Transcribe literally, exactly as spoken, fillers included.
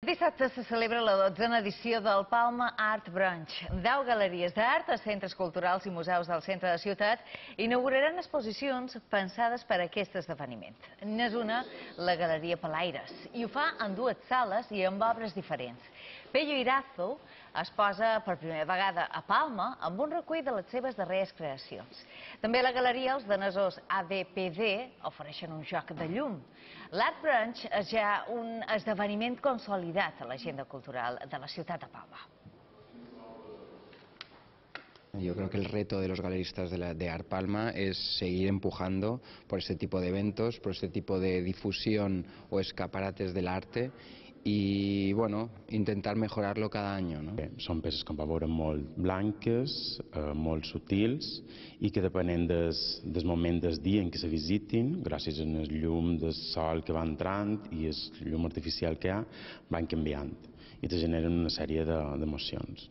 Dissabte se celebra la dotzena edició del Palma Art Brunch. Deu galeries d'art a centres culturals i museus del centre de ciutat inauguraran exposicions pensades per a aquest esdeveniment. N'és una, la Galeria Pelaires, i ho fa en dues sales i amb obres diferents. Pello Irazo es posa per primera vegada a Palma amb un recull de les seves darreres creacions. També a la galeria els danesos A D P D ofereixen un joc de llum. L'Art Brunch és ja un esdeveniment consolidat a l'agenda cultural de la ciutat de Palma. Yo creo que el reto de los galeristas de, la, de Art Palma es seguir empujando por este tipo de eventos, por este tipo de difusión o escaparates del arte i, bueno, intentar mejorar-lo cada any. No? Són peces com va veure molt blanques, eh, molt sutils i que depenent des, del moment del dia en què se visitin, gràcies al llum del sol que va entrant i el llum artificial que hi ha, van canviant i te generen una sèrie d'emocions.